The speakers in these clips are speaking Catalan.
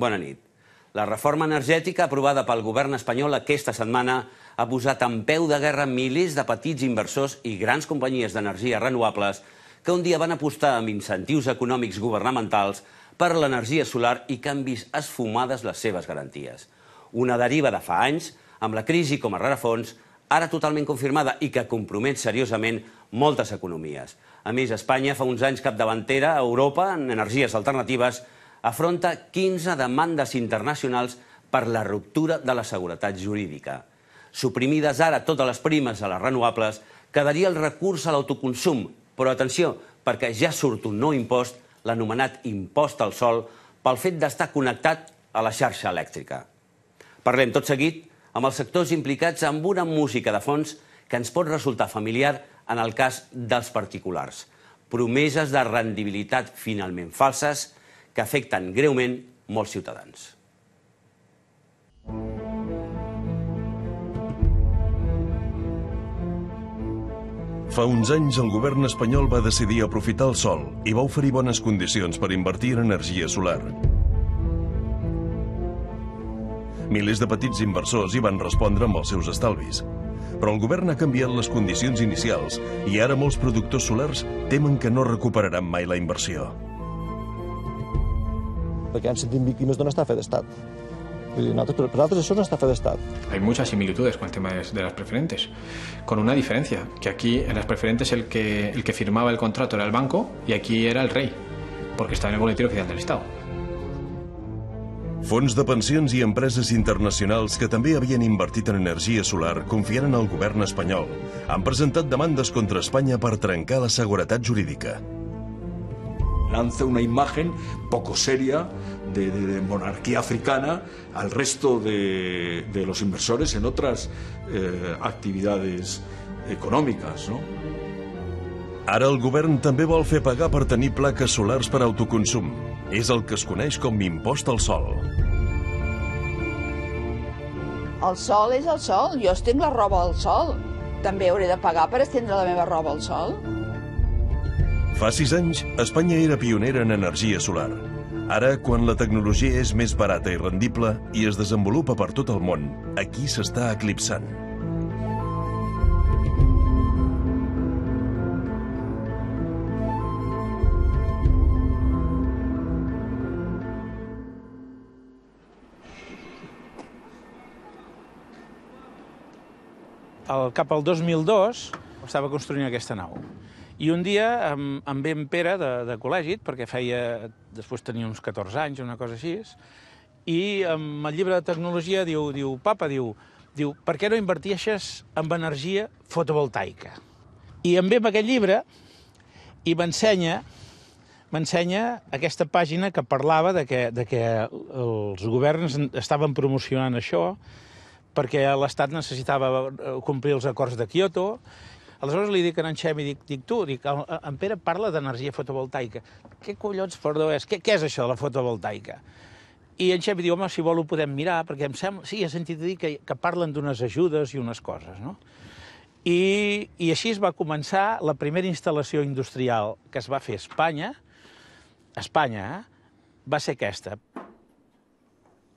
Bona nit. La reforma energètica aprovada pel govern espanyol aquesta setmana ha posat en peu de guerra milers de petits inversors i grans companyies d'energies renovables que un dia van apostar amb incentius econòmics governamentals per l'energia solar i que han vist esfumades les seves garanties. Una deriva de fa anys, amb la crisi com a rerefons, ara totalment confirmada i que compromet seriosament moltes economies. A més, Espanya, fa uns anys capdavantera a Europa en energies alternatives, afronta 15 demandes internacionals per la ruptura de la seguretat jurídica. Suprimides ara totes les primes a les renovables, quedaria el recurs a l'autoconsum. Però atenció, perquè ja surt un nou impost, l'anomenat impost al sol, pel fet d'estar connectat a la xarxa elèctrica. Parlem tot seguit amb els sectors implicats amb una música de fons que ens pot resultar familiar en el cas dels particulars. Promeses de rendibilitat finalment falses que afecten greument molts ciutadans. Fa uns anys el govern espanyol va decidir aprofitar el sol i va oferir bones condicions per invertir en energia solar. Milers de petits inversors hi van respondre amb els seus estalvis. Però el govern ha canviat les condicions inicials i ara molts productors solars temen que no recuperaran mai la inversió. Perquè ens sentim víctimes d'una estafa d'estat. Per nosaltres això és una estafa d'estat. Hay muchas similitudes con el tema de las preferentes, con una diferencia, que aquí en las preferentes el que firmaba el contrato era el banco y aquí era el rey, porque estaba en el boletín oficial del Estado. Fons de pensions i empreses internacionals que també havien invertit en energia solar confiant en el govern espanyol han presentat demandes contra Espanya per trencar la seguretat jurídica. Lanza una imagen poco seria de monarquía africana al resto de los inversores en otras actividades econòmiques, no? Ara el govern també vol fer pagar per tenir plaques solars per autoconsum. És el que es coneix com impost al sol. El sol és el sol. Jo estenc la roba al sol. També hauré de pagar per estendre la meva roba al sol? Fa 6 anys, Espanya era pionera en energia solar. Ara, quan la tecnologia és més barata i rendible i es desenvolupa per tot el món, aquí s'està eclipsant. Cap al 2002 estava construint aquesta nau. I un dia em ve en Pere de col·legi, perquè després tenia uns 14 anys, una cosa així, i amb el llibre de tecnologia diu, papa, per què no inverteixes en energia fotovoltaica? I em ve amb aquest llibre i m'ensenya aquesta pàgina que parlava de que els governs estaven promocionant això perquè l'Estat necessitava complir els acords de Kyoto. Aleshores li dic a en Xemi, en Pere parla d'energia fotovoltaica. Què collons, perdó, què és això de la fotovoltaica? I en Xemi diu, home, si vol ho podem mirar, perquè em sembla, sí, he sentit dir que parlen d'unes ajudes i unes coses, no? I així es va començar la primera instal·lació industrial que es va fer a Espanya, va ser aquesta.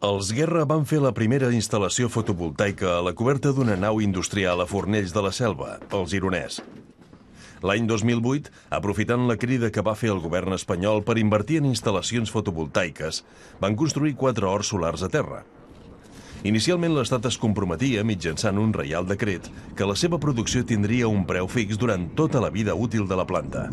Els Guerra van fer la primera instal·lació fotovoltaica a la coberta d'una nau industrial a Fornells de la Selva, al Gironès. L'any 2008, aprofitant la crida que va fer el govern espanyol per invertir en instal·lacions fotovoltaiques, van construir 4 horts solars a terra. Inicialment l'Estat es comprometia, mitjançant un reial decret, que la seva producció tindria un preu fix durant tota la vida útil de la planta.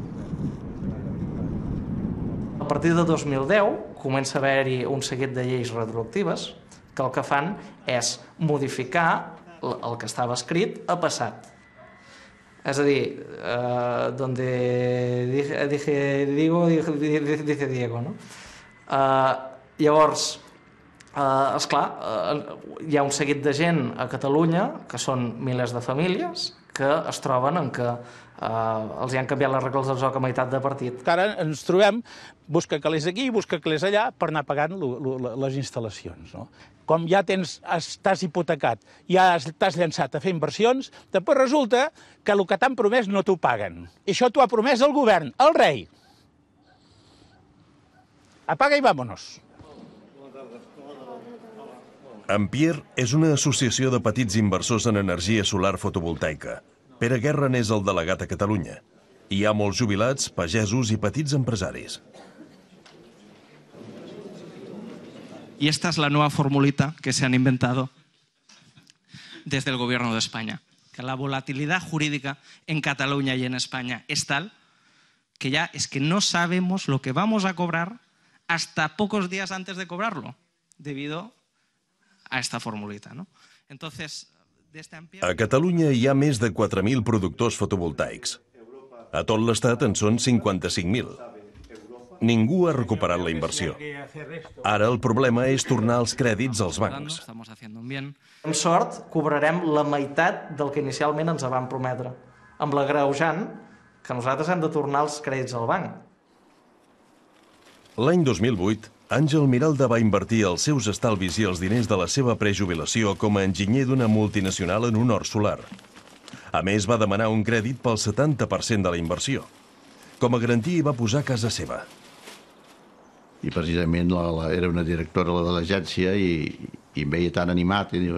A partir de 2010 comença a haver-hi un seguit de lleis retroactives que el que fan és modificar el que estava escrit a passat. És a dir, donde dice Diego, no? Llavors, esclar, hi ha un seguit de gent a Catalunya, que són milers de famílies, que es troben en que els hi han canviat les regles del joc a meitat de partit. Ara ens trobem, busca calés aquí, busca calés allà, per anar pagant les instal·lacions. Com ja estàs hipotecat, ja t'has llançat a fer inversions, després resulta que el que t'han promès no t'ho paguen. I això t'ho ha promès el govern, el rei. Apaga i vámonos. Ampere és una associació de petits inversors en energia solar fotovoltaica. Pere Guerra n'és el delegat a Catalunya. Hi ha molts jubilats, pagesos i petits empresaris. Y esta es la nueva formulita que se han inventado desde el Gobierno de España. Que la volatilidad jurídica en Cataluña y en España es tal que ya es que no sabemos lo que vamos a cobrar hasta pocos días antes de cobrarlo, debido a esta formulita, ¿no? Entonces, a Catalunya hi ha més de 4.000 productors fotovoltaics. A tot l'Estat en són 55.000. Ningú ha recuperat la inversió. Ara el problema és tornar els crèdits als bancs. Amb sort, cobrarem la meitat del que inicialment ens van prometre, amb l'agreujant que nosaltres hem de tornar els crèdits al banc. L'any 2008, Àngel Miralda va invertir els seus estalvis i els diners de la seva prejubilació com a enginyer d'una multinacional en un hort solar. A més, va demanar un crèdit pel 70% de la inversió. Com a garantia hi va posar casa seva. I precisament era una directora de l'agència i em veia tan animat i diu,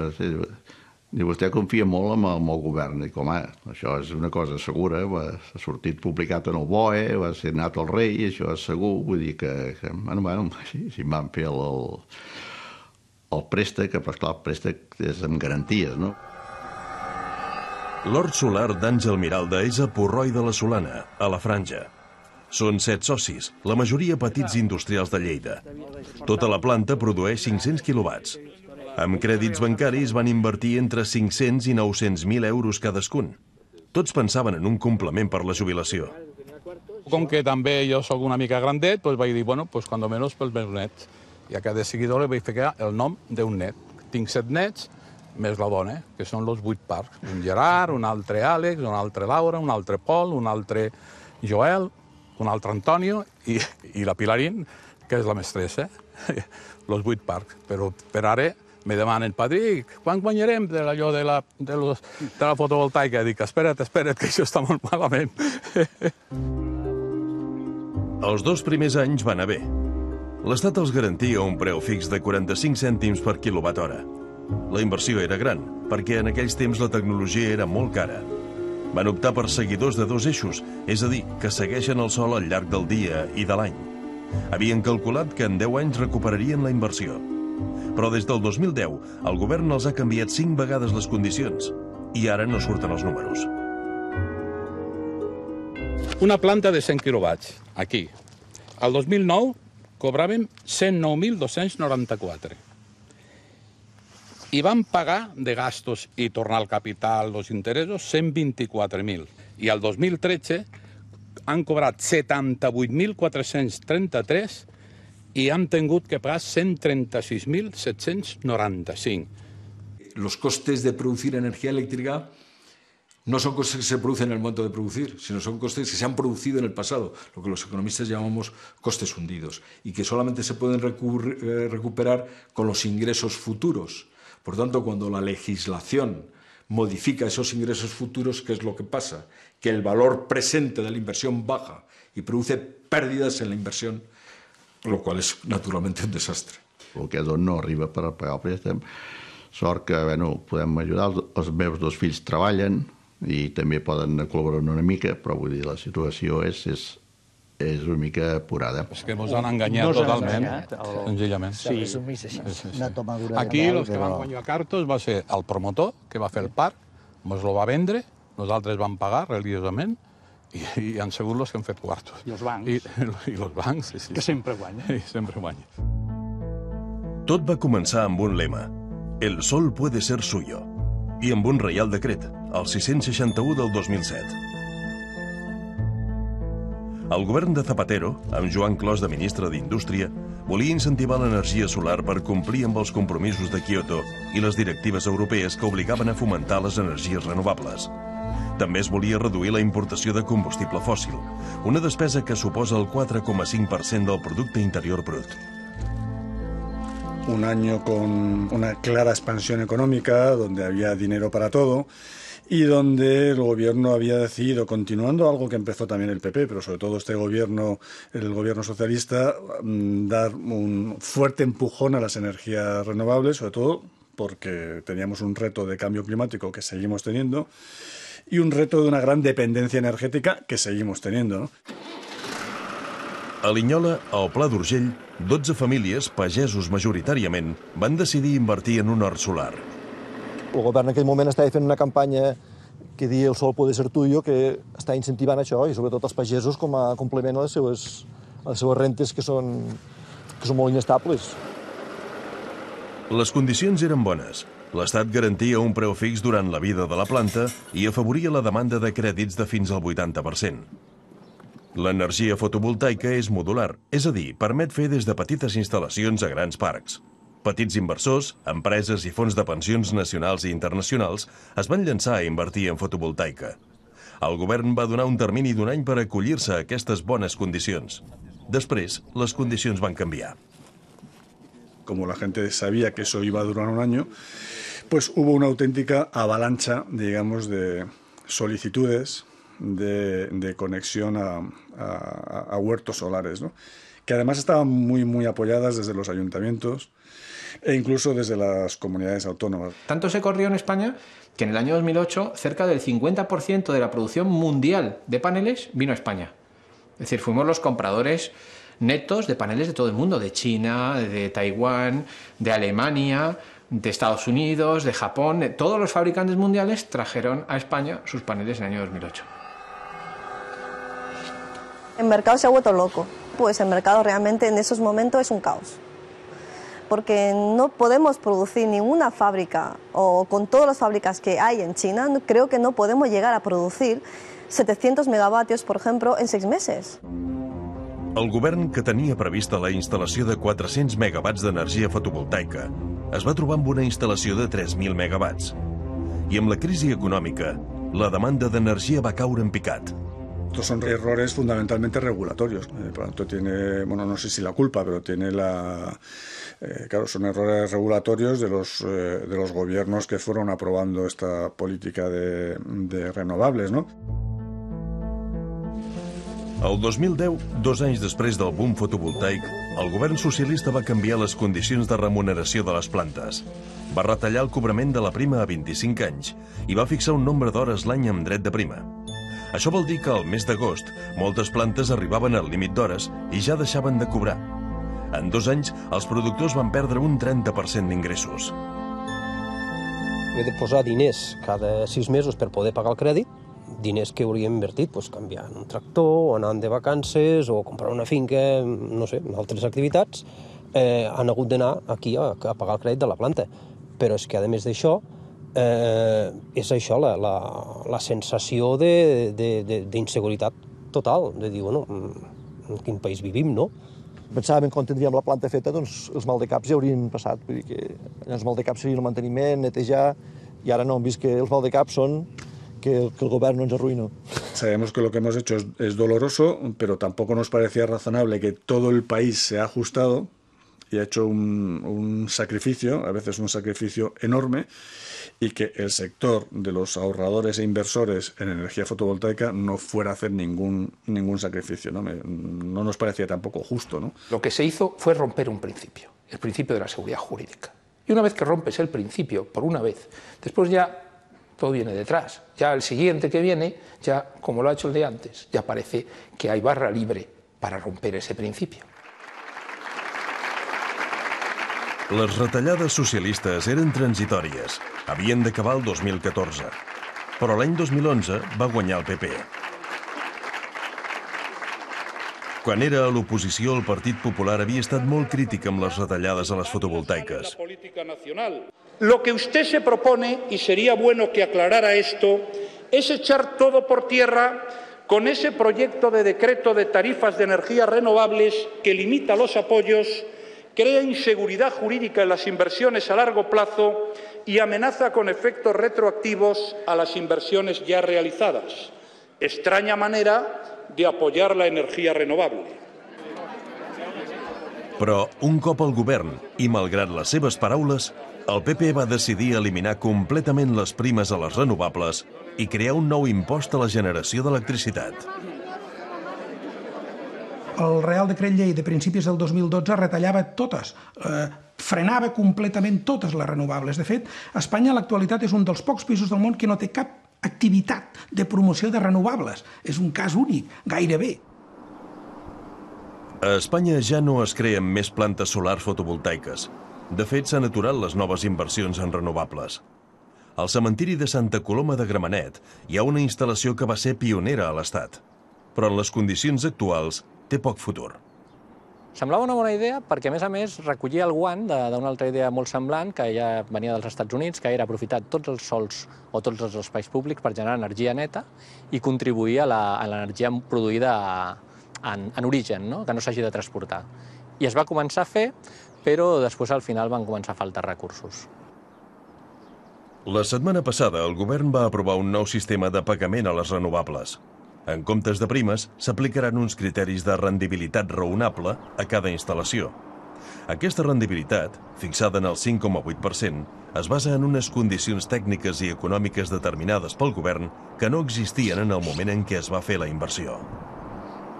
vostè confia molt en el govern. Dic, home, això és una cosa segura, ha sortit publicat en el BOE, va ser anat al rei, això és segur, vull dir que bueno, si em van fer el préstec, però esclar, el préstec és amb garanties, no? L'hort solar d'Àngel Miralda és a Porroi de la Solana, a la Franja. Són 7 socis, la majoria petits industrials de Lleida. Tota la planta produeix 500 quilowatts. Amb crèdits bancaris van invertir entre 500 i 900.000 euros cadascun. Tots pensaven en un complement per la jubilació. Com que també jo sóc una mica grandet, vaig dir, bueno, cuando menos pels meus nets. I a cada seguidor li vaig ficar el nom d'un net. Tinc 7 nets, més la dona, que són els 8 parcs. Un Gerard, un altre Àlex, un altre Laura, un altre Pol, un altre Joel, un altre Antonio i la Pilarín, que és la mestressa. Els 8 parcs. Però per ara me demanen, Patrick, quan guanyarem d'allò de la fotovoltaica? Dic, espera't, que això està molt malament. Els 2 primers anys van anar bé. L'Estat els garantia un preu fix de 45 cèntims per quilowatt hora. La inversió era gran, perquè en aquells temps la tecnologia era molt cara. Van optar per seguidors de 2 eixos, és a dir, que segueixen el sol al llarg del dia i de l'any. Havien calculat que en 10 anys recuperarien la inversió. Però des del 2010, el govern els ha canviat 5 vegades les condicions i ara no surten els números. Una planta de 100 quilowatts, aquí. El 2009 cobràvem 109.294. I vam pagar de gastos i tornar al capital, els interessos, 124.000. I el 2013 han cobrat 78.433 y han tenido que pagar 136.795. Los costes de producir energía eléctrica no son costes que se producen en el momento de producir, sino son costes que se han producido en el pasado, lo que los economistas llamamos costes hundidos, y que solamente se pueden recuperar con los ingresos futuros. Por tanto, cuando la legislación modifica esos ingresos futuros, ¿qué es lo que pasa? Que el valor presente de la inversión baja y produce pérdidas en la inversión, lo qual és naturalment un desastre. El que no arriba per pagar el préstec. Sort que podem ajudar. Els meus 2 fills treballen i també poden col·laborar una mica, però vull dir, la situació és una mica apurada. És que ens han enganyat totalment, senzillament. Sí, aquí els que van guanyar cartos va ser el promotor, que va fer el parc, ens lo va vendre, nosaltres vam pagar religiosament, i han sigut els que han fet quartos. I els bancs. I els bancs, sí. Que sempre guanyen. Sí, sempre guanyen. Tot va començar amb un lema. El sol puede ser suyo. I amb un reial decret, el 661 del 2007. El govern de Zapatero, amb Joan Clos de ministre d'Indústria, volia incentivar l'energia solar per complir amb els compromisos de Kyoto i les directives europees que obligaven a fomentar les energies renovables. També es volia reduir la importació de combustible fòssil, una despesa que suposa el 4,5% del Producte Interior Brut. Un año con una clara expansión económica, donde había dinero para todo y donde el gobierno había decidido, continuando algo que empezó también el PP, pero sobre todo este gobierno, el gobierno socialista, dar un fuerte empujón a las energías renovables, sobre todo porque teníamos un reto de cambio climático que seguimos teniendo y un reto de una gran dependencia energètica que seguimos teniendo, ¿no? A Linyola, al Pla d'Urgell, 12 famílies, pagesos majoritàriament, van decidir invertir en un hort solar. El govern en aquell moment estava fent una campanya que dia el sol puede ser tuyo, que està incentivant això, i sobretot els pagesos com a complement a les seues rentes que són molt inestables. Les condicions eren bones. L'Estat garantia un preu fix durant la vida de la planta i afavoria la demanda de crèdits de fins al 80%. L'energia fotovoltaica és modular, és a dir, permet fer des de petites instal·lacions a grans parcs. Petits inversors, empreses i fons de pensions nacionals i internacionals es van llançar a invertir en fotovoltaica. El govern va donar un termini d'un any per acollir-se a aquestes bones condicions. Després, les condicions van canviar. Como la gente sabía que eso iba a durar un año, pues hubo una auténtica avalancha, digamos, de solicitudes de conexión a huertos solares, ¿no? Que además estaban muy apoyadas desde los ayuntamientos e incluso desde las comunidades autónomas. Tanto se corrió en España que en el año 2008 cerca del 50% de la producción mundial de paneles vino a España. Es decir, fuimos los compradores netos de paneles de todo el mundo, de China, de Taiwán, de Alemania, de Estados Unidos, de Japón. Todos los fabricantes mundiales trajeron a España sus paneles en el año 2008. El mercado se ha vuelto loco. Pues el mercado realmente en esos momentos es un caos. Porque no podemos producir ninguna fábrica, o con todas las fábricas que hay en China, creo que no podemos llegar a producir 700 megavatios, por ejemplo, en 6 meses. El govern, que tenia prevista la instal·lació de 400 megawatts d'energia fotovoltaica, es va trobar amb una instal·lació de 3.000 megawatts. I amb la crisi econòmica, la demanda d'energia va caure en picat. Estos son errores fundamentalmente regulatorios. Por lo tanto, tiene, bueno, no sé si la culpa, pero tiene claro, son errores regulatorios de los gobiernos que fueron aprobando esta política de renovables, ¿no? El 2010, 2 anys després del boom fotovoltaic, el govern socialista va canviar les condicions de remuneració de les plantes. Va retallar el cobrament de la prima a 25 anys i va fixar un nombre d'hores l'any amb dret de prima. Això vol dir que al mes d'agost moltes plantes arribaven al límit d'hores i ja deixaven de cobrar. En 2 anys, els productors van perdre un 30% d'ingressos. He de posar diners cada 6 mesos per poder pagar el crèdit, diners que hauria invertit canviant un tractor, o anant de vacances, o comprar una finca, no sé, altres activitats, han hagut d'anar aquí a pagar el crèdit de la planta. Però és que, a més d'això, és això, la sensació d'inseguretat total, de dir, bueno, en quin país vivim, no? Pensàvem que quan tindríem la planta feta, doncs els maldecaps ja haurien passat. Vull dir que els maldecaps serien el manteniment, netejar, i ara no, hem vist que els maldecaps són que el gobierno nos arruinó. Sabemos que lo que hemos hecho es doloroso, pero tampoco nos parecía razonable que todo el país se ha ajustado y ha hecho un sacrificio, a veces un sacrificio enorme, y que el sector de los ahorradores e inversores en energía fotovoltaica no fuera a hacer ningún sacrificio, ¿no? No nos parecía tampoco justo, ¿no? Lo que se hizo fue romper un principio, el principio de la seguridad jurídica. Y una vez que rompes el principio, por una vez, después ya todo viene detrás. Ya el siguiente que viene, ya como lo ha hecho el de antes, ya parece que hay barra libre para romper ese principio. Les retallades socialistes eren transitòries. Havien d'acabar el 2014. Però l'any 2011 va guanyar el PP. Quan era a l'oposició, el Partit Popular havia estat molt crític amb les retallades a les fotovoltaiques. Lo que usted se propone, y sería bueno que aclarara esto, es echar todo por tierra con ese proyecto de decreto de tarifas de energías renovables que limita los apoyos, crea inseguridad jurídica en las inversiones a largo plazo y amenaza con efectos retroactivos a las inversiones ya realizadas. Extraña manera de apoyar la energía renovable. Però, un cop al govern, i malgrat les seves paraules, el PP va decidir eliminar completament les primes a les renovables i crear un nou impost a la generació d'electricitat. El Real Decret Llei de principis del 2012 retallava totes frenava completament totes les renovables. De fet, Espanya a l'actualitat és un dels pocs països del món que no té cap activitat de promoció de renovables. És un cas únic, gairebé. A Espanya ja no es creen més plantes solars fotovoltaiques. De fet, s'han aturat les noves inversions en renovables. Al cementiri de Santa Coloma de Gramenet hi ha una instal·lació que va ser pionera a l'Estat, però en les condicions actuals té poc futur. Semblava una bona idea perquè, a més, recollia el guant d'una altra idea molt semblant que ja venia dels Estats Units, que era aprofitar tots els sols o tots els espais públics per generar energia neta i contribuir a l'energia produïda en origen, que no s'hagi de transportar. I es va començar a fer, però després al final van començar a faltar recursos. La setmana passada el govern va aprovar un nou sistema de pagament a les renovables. En comptes de primes, s'aplicaran uns criteris de rendibilitat raonable a cada instal·lació. Aquesta rendibilitat, fixada en el 5,8%, es basa en unes condicions tècniques i econòmiques determinades pel govern que no existien en el moment en què es va fer la inversió.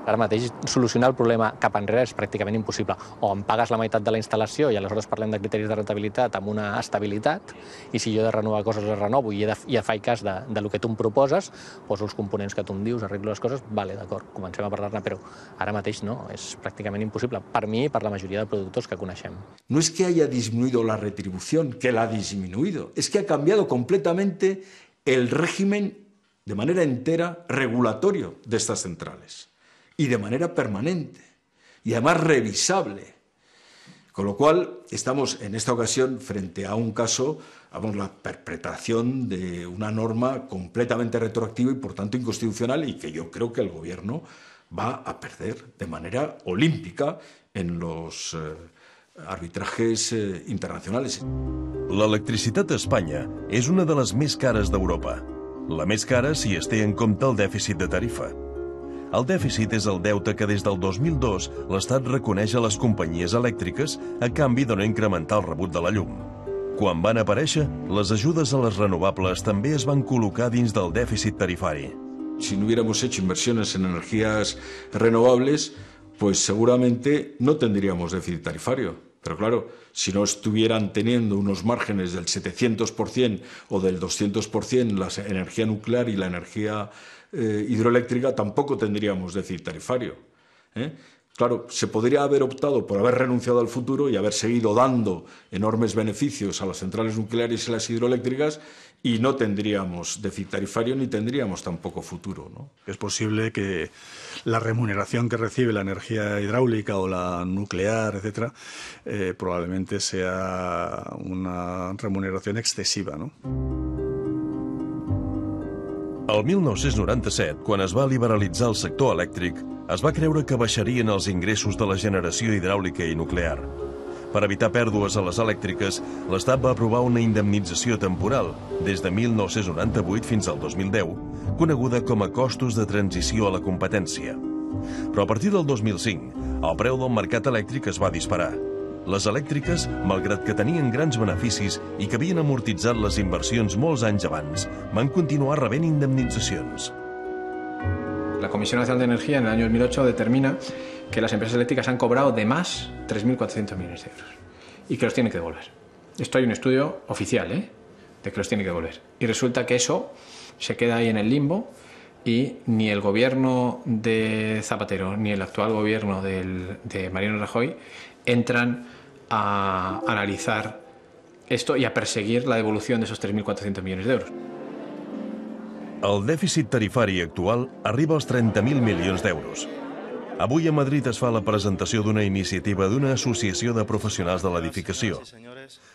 Ara mateix solucionar el problema cap enrere és pràcticament impossible. O em pagues la meitat de la instal·lació i aleshores parlem de criteris de rentabilitat amb una estabilitat, i si jo he de renovar coses les renovo i faig cas del que tu em proposes, poso els components que tu em dius, arreglo les coses, vale, d'acord, comencem a parlar-ne, però ara mateix no, és pràcticament impossible, per mi i per la majoria de productors que coneixem. No es que haya disminuido la retribución, que la ha disminuido, es que ha cambiado completamente el régimen de manera entera regulatorio de estas centrales. Y de manera permanente, y además revisable. Con lo cual, estamos en esta ocasión frente a un caso, la perpetración de una norma completamente retroactiva y por tanto inconstitucional, y que yo creo que el Gobierno va a perder de manera olímpica en los arbitrajes internacionales. L'electricitat a Espanya és una de les més cares d'Europa. La més cara si es té en compte el dèficit de tarifa. El dèficit és el deute que des del 2002 l'Estat reconeix a les companyies elèctriques a canvi de no incrementar el rebut de la llum. Quan van aparèixer, les ajudes a les renovables també es van col·locar dins del dèficit tarifari. Si no hubiéramos hecho inversiones en energías renovables, pues seguramente no tendríamos déficit tarifario. Pero claro, si no estuvieran teniendo unos márgenes del 700% o del 200% la energía nuclear y la energía hidroeléctrica, tampoco tendríamos déficit tarifario. Claro, se podría haber optado por haber renunciado al futuro y haber seguido dando enormes beneficios a las centrales nucleares y las hidroeléctricas y no tendríamos déficit tarifario ni tendríamos tampoco futuro, ¿no? Es posible que la remuneración que recibe la energía hidráulica o la nuclear, etcétera, probablemente sea una remuneración excesiva, ¿no? El 1997, quan es va liberalitzar el sector elèctric, es va creure que baixarien els ingressos de la generació hidràulica i nuclear. Per evitar pèrdues a les elèctriques, l'Estat va aprovar una indemnització temporal, des de 1998 fins al 2010, coneguda com a costos de transició a la competència. Però a partir del 2005, el preu del mercat elèctric es va disparar. Les elèctriques, malgrat que tenien grans beneficis i que havien amortitzat les inversions molts anys abans, van continuar rebent indemnitzacions. La Comisión Nacional de Energía en el año 2008 determina que las empresas eléctricas han cobrado de más 3.400 millones de euros y que los tienen que devolver. Esto hay un estudio oficial, de que los tiene que devolver. Y resulta que eso se queda ahí en el limbo y ni el gobierno de Zapatero ni el actual gobierno de Mariano Rajoy entran a analizar esto y a perseguir la devolución de esos 3.400 millones de euros. El dèficit tarifari actual arriba als 30.000 milions d'euros. Avui a Madrid es fa la presentació d'una iniciativa d'una associació de professionals de l'edificació.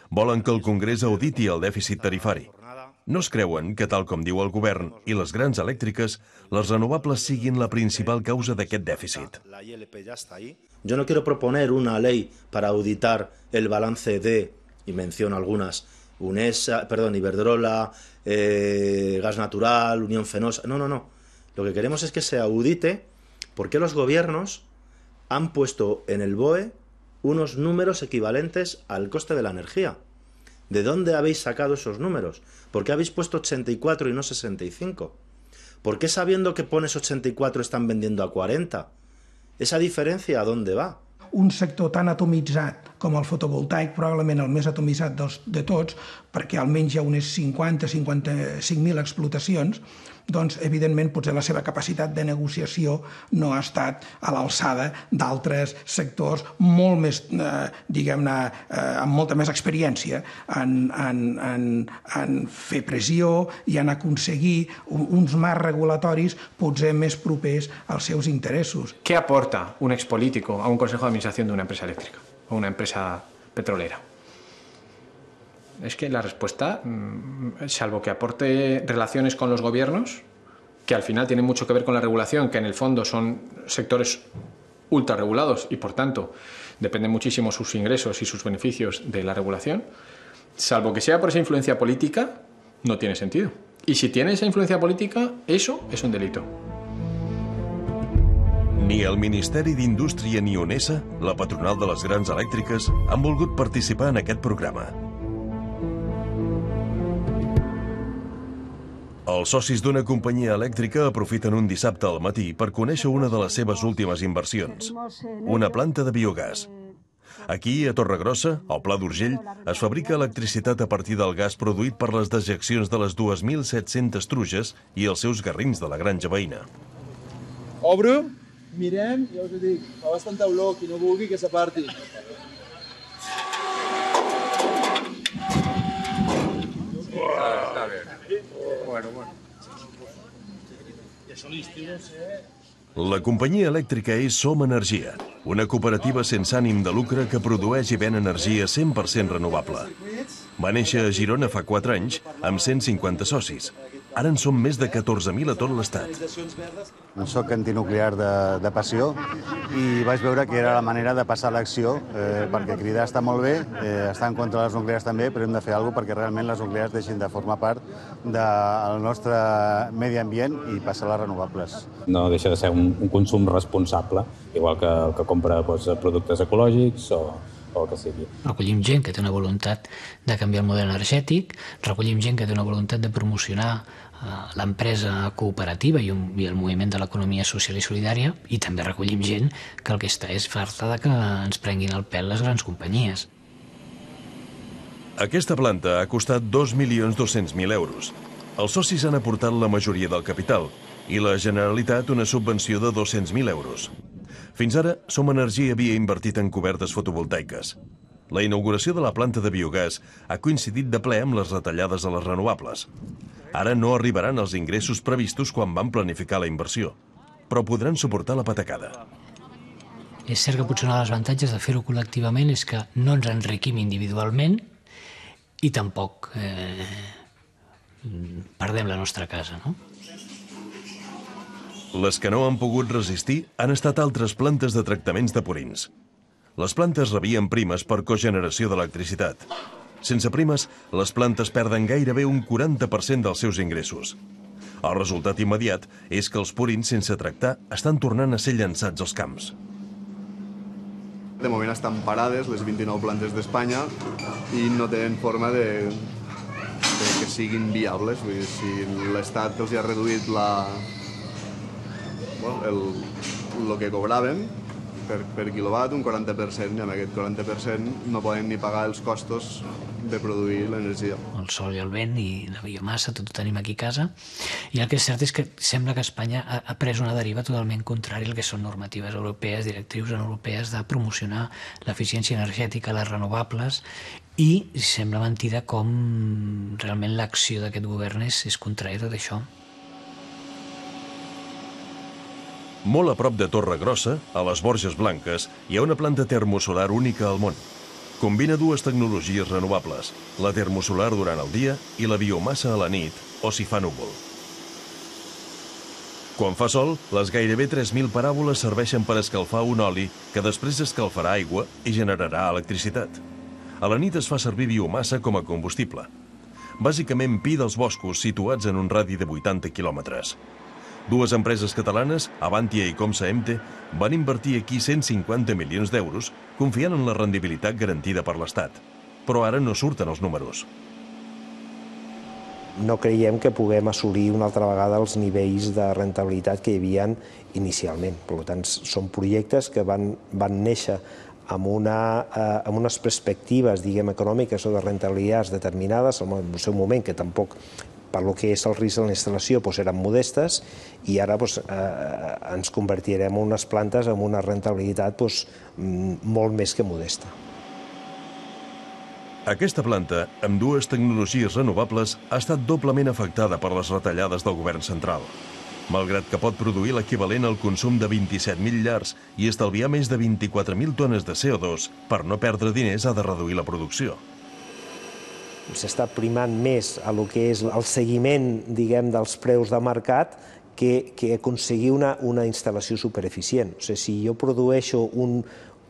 Volen que el Congrés auditi el dèficit tarifari. No es creuen que, tal com diu el govern i les grans elèctriques, les renovables siguin la principal causa d'aquest dèficit. Yo no quiero proponer una ley para auditar el balance de, y menciono algunas, Iberdrola, Gas Natural, Unión Fenosa. No. Lo que queremos es que se audite por qué los gobiernos han puesto en el BOE unos números equivalentes al coste de la energía. ¿De dónde habéis sacado esos números? ¿Por qué habéis puesto 84 y no 65? ¿Por qué sabiendo que pones 84 están vendiendo a 40? ¿Esa diferència a dónde va? Un sector tan atomitzat, com el fotovoltaic, probablement el més atomitzat de tots, perquè almenys hi ha unes 50-55.000 explotacions, doncs, evidentment, potser la seva capacitat de negociació no ha estat a l'alçada d'altres sectors molt més, diguem-ne, amb molta més experiència en fer pressió i en aconseguir uns marcs regulatoris potser més propers als seus interessos. ¿Qué aporta un expolítico a un consejo de administración de una empresa eléctrica o una empresa petrolera? Es que la respuesta, salvo que aporte relaciones con los gobiernos, que al final tienen mucho que ver con la regulación, que en el fondo son sectores ultra regulados y por tanto dependen muchísimo sus ingresos y sus beneficios de la regulación, salvo que sea por esa influencia política, no tiene sentido. Y si tiene esa influencia política, eso es un delito. Ni el Ministeri d'Indústria ni UNESA, la patronal de les grans elèctriques, han volgut participar en aquest programa. Els socis d'una companyia elèctrica aprofiten un dissabte al matí per conèixer una de les seves últimes inversions, una planta de biogàs. Aquí, a Torregrossa, al Pla d'Urgell, es fabrica electricitat a partir del gas produït per les dejeccions de les 2.700 truges i els seus garrins de la granja veïna. Obro, mirem, ja us ho dic, fa bastanta olor, qui no vulgui que s'aparti. Està bé. Bueno. La companyia elèctrica és Som Energia, una cooperativa sense ànim de lucre que produeix i ven energia 100% renovable. Va néixer a Girona fa 4 anys amb 150 socis. Ara en són més de 14.000 a tot l'Estat. Soc antinuclear de passió i vaig veure que era la manera de passar a l'acció, perquè cridar està molt bé, estar en contra de les nuclears també, però hem de fer alguna cosa perquè realment les nuclears deixin de formar part del nostre medi ambient i passar a les renovables. No deixa de ser un consum responsable, igual que el que compra productes ecològics o el que sigui. Recollim gent que té una voluntat de canviar el model energètic, recollim gent que té una voluntat de promocionar l'empresa cooperativa i el moviment de l'economia social i solidària, i també recollim gent que el que està és farta de que ens prenguin el pèl les grans companyies. Aquesta planta ha costat 2.200.000 euros. Els socis han aportat la majoria del capital i la Generalitat una subvenció de 200.000 euros. Fins ara, Som Energia havia invertit en cobertes fotovoltaiques. La inauguració de la planta de biogàs ha coincidit de ple amb les retallades a les renovables. Ara no arribaran els ingressos previstos quan van planificar la inversió, però podran suportar la patacada. És cert que potser un dels avantatges de fer-ho col·lectivament és que no ens enriquim individualment i tampoc perdem la nostra casa, no? Les que no han pogut resistir han estat altres plantes de tractaments de purins. Les plantes rebien primes per cogeneració d'electricitat. Sense primes, les plantes perden gairebé un 40% dels seus ingressos. El resultat immediat és que els purins sense tractar estan tornant a ser llançats als camps. De moment estan parades les 29 plantes d'Espanya i no tenen forma de que siguin viables. Vull dir, si l'Estat els ha reduït el que cobraven per quilowatt un 40%, i amb aquest 40% no poden ni pagar els costos de produir l'energia. El sol i el vent i la biomassa, tot ho tenim aquí a casa. I el que és cert és que sembla que Espanya ha pres una deriva totalment contrària al que són normatives europees, directrius europees de promocionar l'eficiència energètica, les renovables, i sembla mentida com realment l'acció d'aquest govern és contrària a tot això. Molt a prop de Torregrossa, a les Borges Blanques, hi ha una planta termosolar única al món. Combina dues tecnologies renovables, la termosolar durant el dia i la biomassa a la nit, o si fa núvol. Quan fa sol, les gairebé 3.000 paràboles serveixen per escalfar un oli que després escalfarà aigua i generarà electricitat. A la nit es fa servir biomassa com a combustible. Bàsicament pi dels boscos situats en un radi de 80 quilòmetres. Dues empreses catalanes, Avantia i Comsa Emte, van invertir aquí 150 milions d'euros confiant en la rendibilitat garantida per l'Estat. Però ara no surten els números. No creiem que puguem assolir una altra vegada els nivells de rentabilitat que hi havia inicialment. Per tant, són projectes que van néixer amb unes perspectives, diguem, econòmiques o de rentabilitats determinades, en el seu moment, que tampoc, per lo que és el risc de la instal·lació, eren modestes, i ara ens convertirem en unes plantes amb una rentabilitat molt més que modesta. Aquesta planta, amb dues tecnologies renovables, ha estat doblement afectada per les retallades del govern central. Malgrat que pot produir l'equivalent al consum de 27.000 llars i estalviar més de 24.000 tones de CO2, per no perdre diners ha de reduir la producció. S'està primant més a lo que és el seguiment, diguem, dels preus de mercat que aconseguir una instal·lació supereficient. O sigui, si jo produeixo un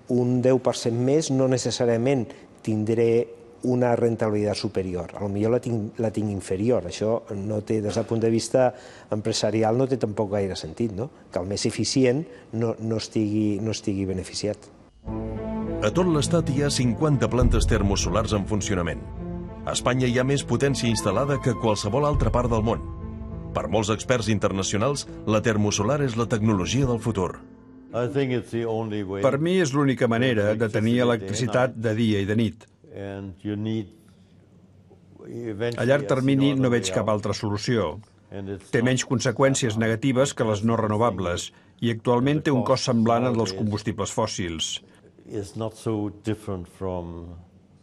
10% més, no necessàriament tindré una rentabilitat superior. Potser la tinc inferior. Això des del punt de vista empresarial no té tampoc gaire sentit, que el més eficient no estigui beneficiat. A tot l'Estat hi ha 50 plantes termosolars en funcionament. A Espanya hi ha més potència instal·lada que a qualsevol altra part del món. Per molts experts internacionals, la termosolar és la tecnologia del futur. Per mi és l'única manera de tenir electricitat de dia i de nit. A llarg termini no veig cap altra solució. Té menys conseqüències negatives que les no renovables i actualment té un cost semblant al dels combustibles fòssils.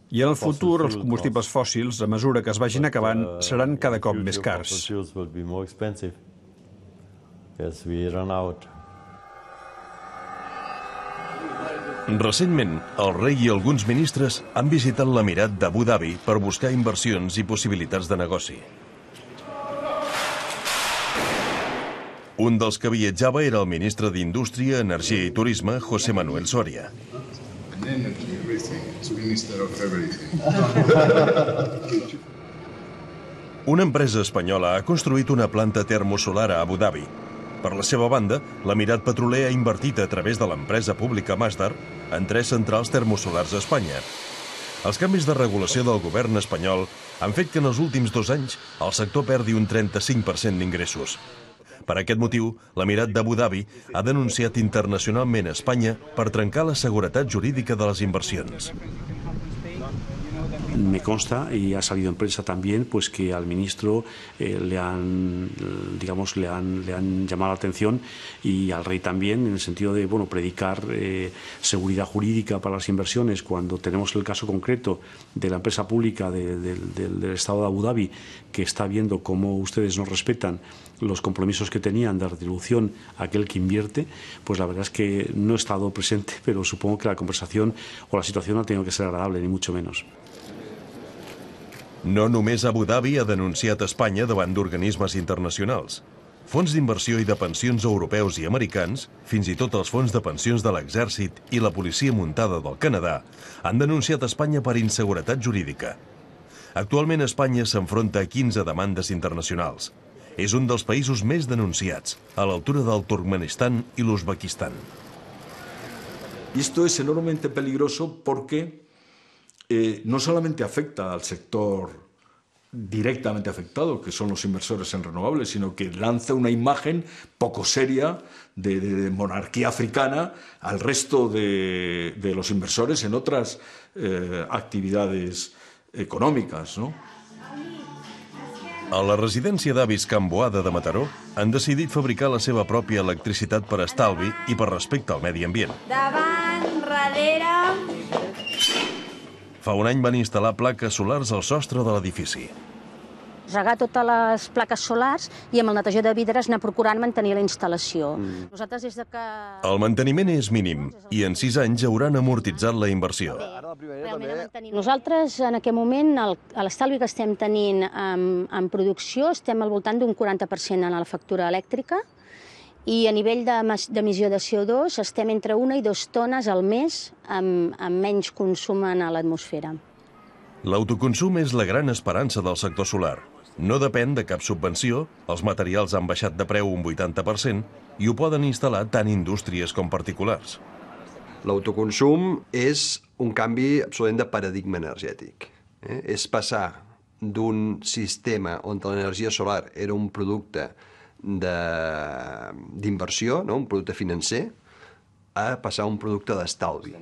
I en el futur, els combustibles fòssils, a mesura que es vagin acabant, seran cada cop més cars. Recentment, el rei i alguns ministres han visitat l'Emirat d'Abu Dhabi per buscar inversions i possibilitats de negoci. Un dels que viatjava era el ministre d'Indústria, Energia i Turisme, José Manuel Soria. Una empresa espanyola ha construït una planta termosolar a Abu Dhabi. Per la seva banda, l'Emirat Petroler ha invertit a través de l'empresa pública Masdar en 3 centrals termosolars a Espanya. Els canvis de regulació del govern espanyol han fet que en els últims 2 anys el sector perdi un 35% d'ingressos. Per aquest motiu, l'Emirat d'Abu Dhabi ha denunciat internacionalment a Espanya per trencar la seguretat jurídica de les inversions. Me consta, y ha salido en prensa también, pues que al ministro le han llamado la atención, y al rey también, en el sentido de predicar seguridad jurídica para las inversiones, cuando tenemos el caso concreto de la empresa pública del Estado de Abu Dhabi, que está viendo cómo ustedes no respetan los compromisos que tenían de retribución a aquel que invierte. Pues la verdad es que no he estado presente, pero supongo que la conversación o la situación no ha tenido que ser agradable, ni mucho menos. No només Abu Dhabi ha denunciat Espanya davant d'organismes internacionals. Fons d'inversió i de pensions europeus i americans, fins i tot els fons de pensions de l'exèrcit i la policia muntada del Canadà, han denunciat Espanya per inseguretat jurídica. Actualment Espanya s'enfronta a 15 demandes internacionals. És un dels països més denunciats, a l'altura del Turkmenistan i l'Uzbekistan. Y esto es enormemente peligroso porque no solamente afecta al sector directamente afectado, que son los inversores en renovables, sino que lanza una imagen poco seria de monarquía africana al resto de los inversores en otras actividades econòmiques, no? A la residència d'avis Can Boada de Mataró han decidit fabricar la seva pròpia electricitat per estalvi i per respecte al medi ambient. Davant, darrere... Fa un any van instal·lar plaques solars al sostre de l'edifici. Regar totes les plaques solars i amb el netejador de vidres anar procurant mantenir la instal·lació. Nosaltres des de que... El manteniment és mínim i en 6 anys hauran amortitzat la inversió. Nosaltres en aquest moment l'estalvi que estem tenint en producció estem al voltant d'un 40% en la factura elèctrica i a nivell d'emissió de CO2 estem entre 1 i 2 tones al mes amb menys consum en l'atmosfera. L'autoconsum és la gran esperança del sector solar. No depèn de cap subvenció, els materials han baixat de preu un 80% i ho poden instal·lar tant indústries com particulars. L'autoconsum és un canvi absolutament de paradigma energètic. És passar d'un sistema on l'energia solar era un producte d'inversió, un producte financer, a passar a un producte d'estalvi.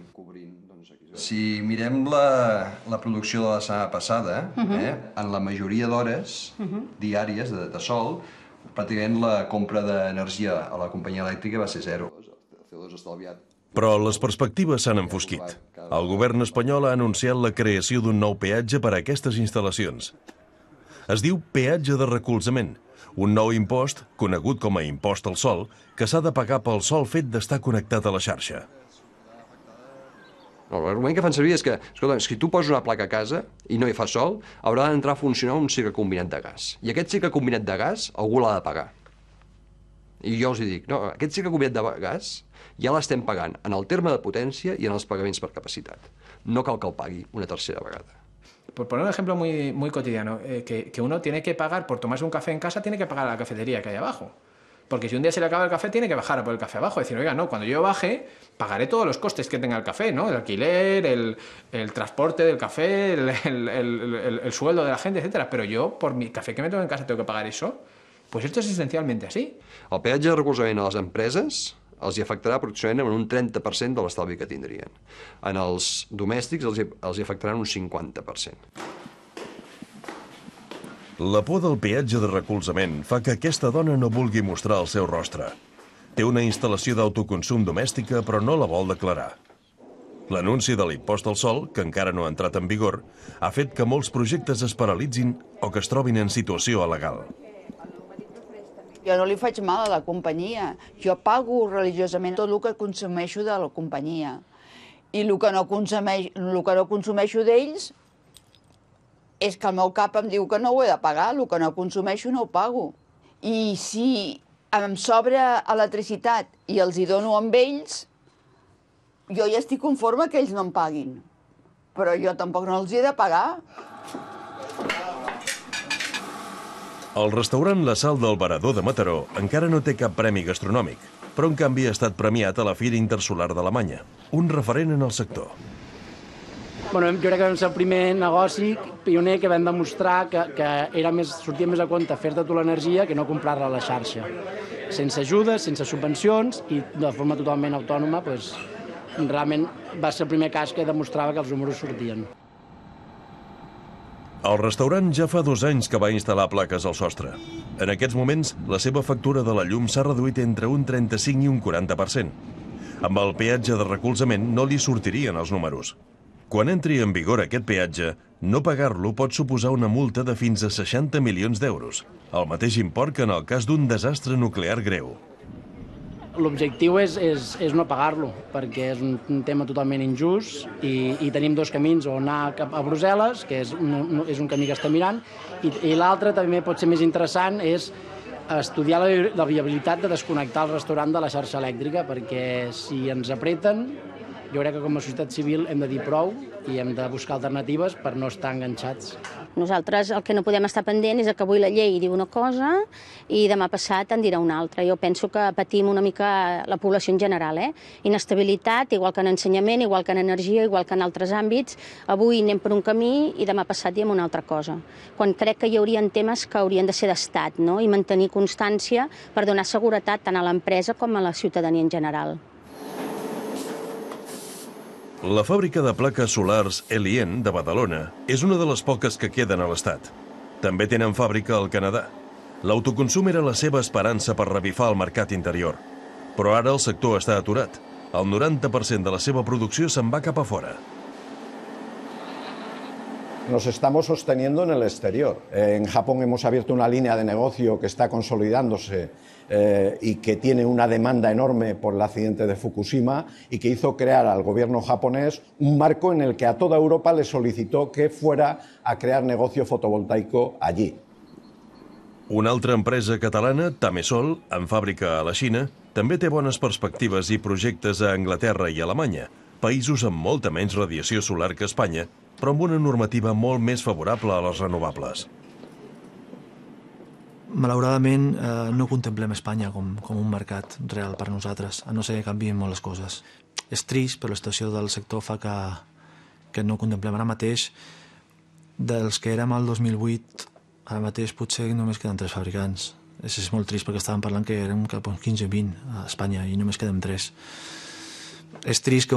Si mirem la producció de la setmana passada, en la majoria d'hores diàries de sol, pràcticament la compra d'energia a la companyia elèctrica va ser zero. Però les perspectives s'han enfosquit. El govern espanyol ha anunciat la creació d'un nou peatge per a aquestes instal·lacions. Es diu peatge de recolzament, un nou impost, conegut com a impost al sol, que s'ha de pagar pel sol fet d'estar connectat a la xarxa. L'argument que fan servir és que, escolta, si tu poses una placa a casa i no hi fa sol, haurà d'entrar a funcionar un cicle combinat de gas. I aquest cicle combinat de gas algú l'ha de pagar. I jo els dic, no, aquest cicle combinat de gas ja l'estem pagant en el terme de potència i en els pagaments per capacitat. No cal que el pagui una tercera vegada. Por poner un ejemplo muy cotidiano, que uno tiene que pagar por tomarse un café en casa, tiene que pagar a la cafetería que hay abajo. Porque si un día se le acaba el café, tiene que bajar a por el café abajo. Decir, oiga, no, cuando yo baje, pagaré todos los costes que tenga el café, ¿no? El alquiler, el transporte del café, el sueldo de la gente, etcétera. Pero yo, por mi café que me tomo en casa, tengo que pagar eso. Pues esto es esencialmente así. El peatge de recolzament a les empreses els hi afectarà aproximadament en un 30% de l'estalvi que tindrien. En els domèstics els hi afectaran un 50%. La por del peatge de recolzament fa que aquesta dona no vulgui mostrar el seu rostre. Té una instal·lació d'autoconsum domèstica, però no la vol declarar. L'anunci de l'impost al sol, que encara no ha entrat en vigor, ha fet que molts projectes es paralitzin o que es trobin en situació il·legal. Jo no li faig mal a la companyia. Jo pago religiosament tot el que consumeixo de la companyia. I el que no consumeixo d'ells és que el meu cap em diu que no ho he de pagar, el que no consumeixo no ho pago. I si em sobra electricitat i els hi dono amb ells, jo ja estic conforme que ells no em paguin. Però jo tampoc no els hi he de pagar. El restaurant La Sal del Varador de Mataró encara no té cap premi gastronòmic, però en canvi ha estat premiat a la Fira Intersolar d'Alemanya, un referent en el sector. Bueno, jo crec que vam ser el primer negoci pioner que vam demostrar que sortia més a compte fer-te tu l'energia que no comprar-la a la xarxa. Sense ajudes, sense subvencions i de forma totalment autònoma, realment va ser el primer cas que demostrava que els números sortien. El restaurant ja fa 2 anys que va instal·lar plaques al sostre. En aquests moments, la seva factura de la llum s'ha reduït entre un 35 i un 40%. Amb el peatge de recolzament no li sortirien els números. Quan entri en vigor aquest peatge, no pagar-lo pot suposar una multa de fins a 60 milions d'euros, el mateix import que en el cas d'un desastre nuclear greu. L'objectiu és no pagar-lo, perquè és un tema totalment injust i tenim 2 camins, o anar cap a Brussel·les, que és un camí que està mirant, i l'altre també pot ser més interessant, és estudiar la viabilitat de desconnectar el restaurant de la xarxa elèctrica, perquè si ens apreten, jo crec que com a societat civil hem de dir prou i hem de buscar alternatives per no estar enganxats. Nosaltres el que no podem estar pendent és que avui la llei diu una cosa i demà passat en dirà una altra. Jo penso que patim una mica la població en general. Inestabilitat, igual que en ensenyament, igual que en energia, igual que en altres àmbits. Avui anem per un camí i demà passat diem una altra cosa. Quan crec que hi haurien temes que haurien de ser d'estat, no? I mantenir constància per donar seguretat tant a l'empresa com a la ciutadania en general. La fàbrica de plaques solars Elien de Badalona és una de les poques que queden a l'Estat. També tenen fàbrica al Canadà. L'autoconsum era la seva esperança per revifar el mercat interior. Però ara el sector està aturat. El 90% de la seva producció se'n va cap a fora. Nos estamos sosteniendo en el exterior. En Japón hemos abierto una línea de negocio que está consolidándose y que tiene una demanda enorme por el accidente de Fukushima y que hizo crear al gobierno japonés un marco en el que a toda Europa le solicitó que fuera a crear negocio fotovoltaico allí. Una altra empresa catalana, Tamesol, amb fàbrica a la Xina, també té bones perspectives i projectes a Anglaterra i Alemanya, països amb molta menys radiació solar que Espanya, però amb una normativa molt més favorable a les renovables. Malauradament, no contemplem Espanya com un mercat real per a nosaltres, a no ser que canviïn molt les coses. És trist, però la situació del sector fa que no contemplem ara mateix. Dels que érem al 2008, ara mateix potser només queden 3 fabricants. És molt trist perquè estàvem parlant que érem cap a 15 o 20 a Espanya i només quedem 3. És trist que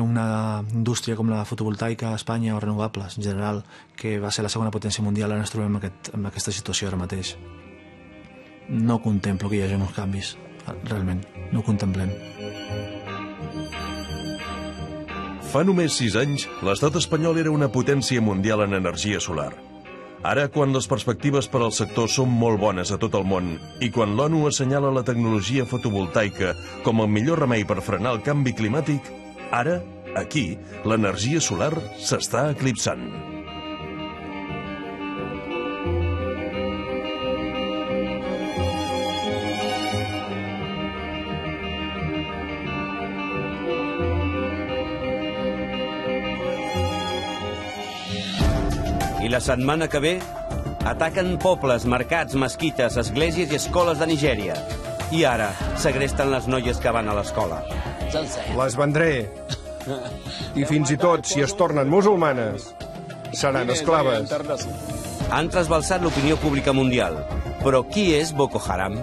una indústria com la fotovoltaica a Espanya o renovables, en general, que va ser la segona potència mundial, ara ens trobem en aquesta situació ara mateix. No contemplo que hi hagi uns canvis, realment, no ho contemplem. Fa només 6 anys, l'estat espanyol era una potència mundial en energia solar. Ara, quan les perspectives per al sector són molt bones a tot el món i quan l'ONU assenyala la tecnologia fotovoltaica com el millor remei per frenar el canvi climàtic, ara, aquí, l'energia solar s'està eclipsant. I la setmana que ve ataquen pobles, mercats, mesquites, esglésies i escoles de Nigèria. I ara segresten les noies que van a l'escola. Les vendré. I fins i tot, si es tornen musulmanes, seran esclaves. Han trasbalsat l'opinió pública mundial. Però qui és Boko Haram?